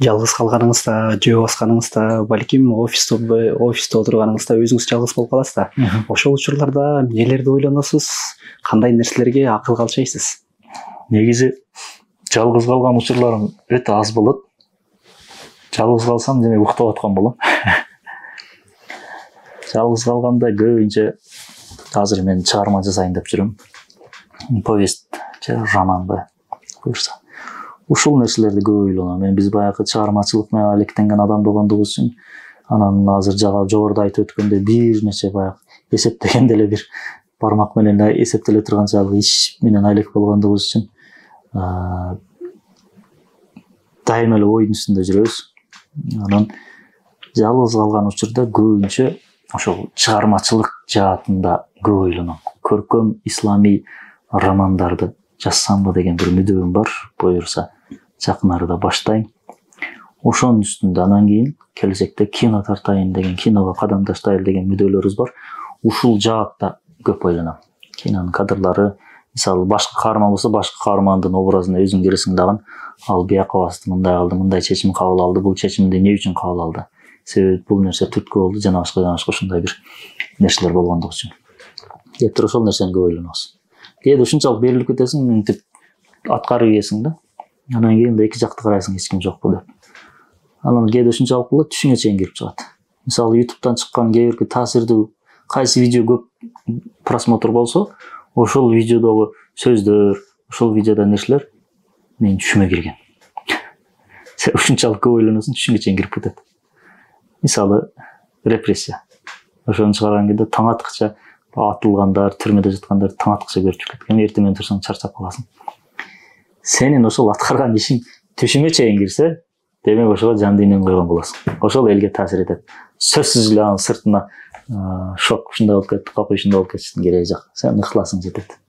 Жалгыз калганыңызда, жөө басканыңызда, балким офисте отурганыңызда өзүңүз жалгыз болуп каласыз да. Ошол учурларда эмнелерди ойлоносуз? Кандай нерселерге акылга алчайсыз? Негизи жалгыз калган учурларым өтө аз болот. Жалгыз калсам демек уктап аткан болом. Жалгыз калганда көбүнчө азыр мен чыгарма жасайын деп жүрөм. Повесть же романды буюрса. Ушул нерселерди көп ойлоном. Мен биз баягы чыгармачылык менен алектенген адам болгондугубуз үчүн анан азыр жогоруда айтып өткөндөй бир нече баягы эсептегенде эле бир бармак менен эсептеле турганчалык иш менен алек болгондугубуз үчүн дайыма эле ойдун үстүндө жүрөбүз. Анан жалгыз калган учурда көбүнчө ошол чыгармачылык жаатында көп ойлоном. Көркөм исламий романдарды жазсамбы деген бир мүдөм бар. Буюрса жакын арада баштайм. Ошонун үстүндө анан кийин келечекте кино тартайын деген, киного кадам таштайлы деген мүдөлөрүбүз бар. Ушул жаатта көп ойлоном. Кинонун кадрлары, мисалы башкы каарман болсо, башкы каармандын образына өзүң киресиң дагы, ал бияка басты, мындай кылды, мындай чечим кабыл алды, бул чечимди эмне үчүн кабыл алды? Себеби бул нерсе түрткү болду, жана башка ушундай бир нерселер болгондугу үчүн. Кээде ошол нерсени көп ойлонобуз. Кээде ушунчалык берилип кетесиң, мынтип аткарып ийесиң да. Анан кийин эки жакты карайсың, эч ким жокпу деп. Анан кээде ушунчалык болот, түшүңө чейин кирип чыгат. Мисалы YouTube'дан чыккан кээ бирки таасирдүү кайсы видео көп просмотр болсо, ошол видеодогу сөздөр, ошол видеодо нерселер менин түшүмө кирген. Сен ушунчалык көп ойлоносуң, түшүңө чейин кирип кетет. Мисалы репрессия. Ошону чыгарган кезде таң аткыча атылгандар, түрмөдө жаткандар таң аткыча көрүп кеткен. Эртең менен турсаң чарчап каласың. Сенин ошол аткарган ишиң түшүңө чейин кирсе, демек ошого жан дүйнөң койгон болосуң. Ошол элге таасир этет. Сөзсүз эле анын сыртына шок ушундай болуп кетти, капы ушундай болуп кетиштин кереги жок. Сен ыхласың жетет.